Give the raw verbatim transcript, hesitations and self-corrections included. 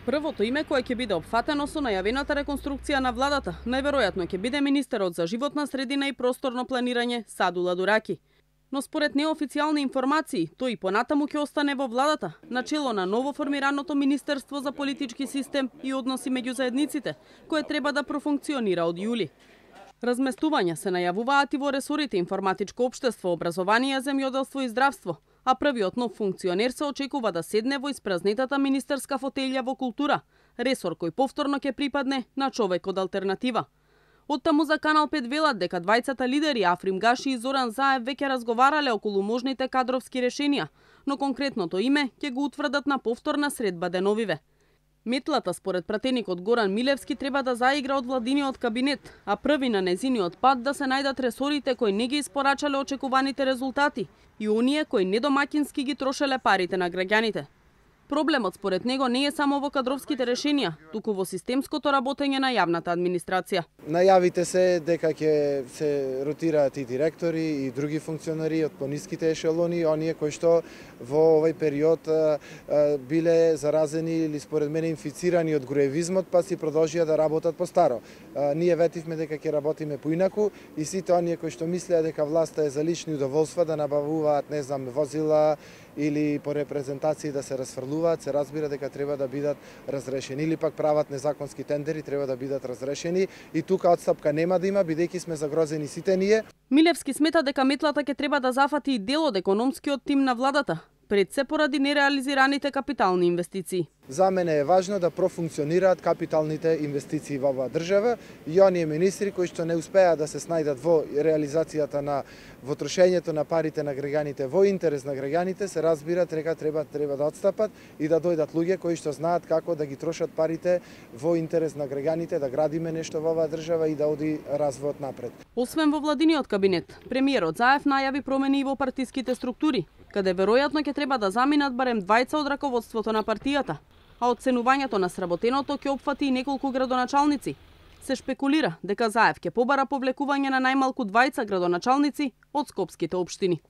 Првото име кое ќе биде опфатено со најавената реконструкција на владата, најверојатно ќе биде министерот за животна средина и просторно планирање Садула Дураки. Но според неофицијални информации, тој и понатаму ќе остане во владата, начело на ново формираното Министерство за политички систем и односи меѓу заедниците, кое треба да профункционира од јули. Разместувања се најавуваат и во ресорите информатичко општество, образование, земјоделство и здравство, а првиот нов функционер се очекува да седне во испразнетата министерска фотелја во култура, ресор кој повторно ќе припадне на човек од алтернатива. Оттаму за Канал пет велат дека двајцата лидери Африм Гаши и Зоран Заев веќе разговарале околу можните кадровски решенија, но конкретното име ќе го утврдат на повторна средба деновиве. Метлата според пратеникот Горан Милевски треба да заигра од владиниот кабинет, а први на незиниот пат да се најдат ресорите кои не ги испорачале очекуваните резултати и оние кои недомаќински ги трошеле парите на граѓаните. Проблемот според него не е само во кадровските решенија, туку во системското работење на јавната администрација. Најавите се дека ќе се ротираат и директори и други функционери од пониските ешелони, оние кои што во овој период а, а, биле заразени или според мене инфицирани од груевизмот, па си продолжија да работат по старо. А, ние ветивме дека ќе работиме поинаку и сите оние кои што мислеа дека власта е за лични удоволства да набавуваат, не знам, возила или по репрезентации да се расфрлуваат, се разбира дека треба да бидат разрешени, или пак прават незаконски тендери, треба да бидат разрешени и тука отстапка нема да има, бидејќи сме загрозени сите ние. Милевски смета дека метлата ќе треба да зафати и дел од економскиот тим на владата, пред се поради нереализираните капитални инвестиции. За мене е важно да профункционираат капиталните инвестиции во оваа држава и оние министри кои што не успеа да се снајдат во реализацијата на во трошењето на парите на граѓаните во интерес на граѓаните, се разбира дека треба треба да отстапат и да дојдат луѓе кои што знаат како да ги трошат парите во интерес на граѓаните, да градиме нешто во оваа држава и да оди развојот напред. Освен во владиниот кабинет, премиерот Заев најави промени и во партиските структури, каде веројатно ќе треба да заминат барем двајца од раководството на партијата, а оценувањето на сработеното ќе опфати и неколку градоначалници. Се шпекулира дека Заев ќе побара повлекување на најмалку двајца градоначалници од скопските општини.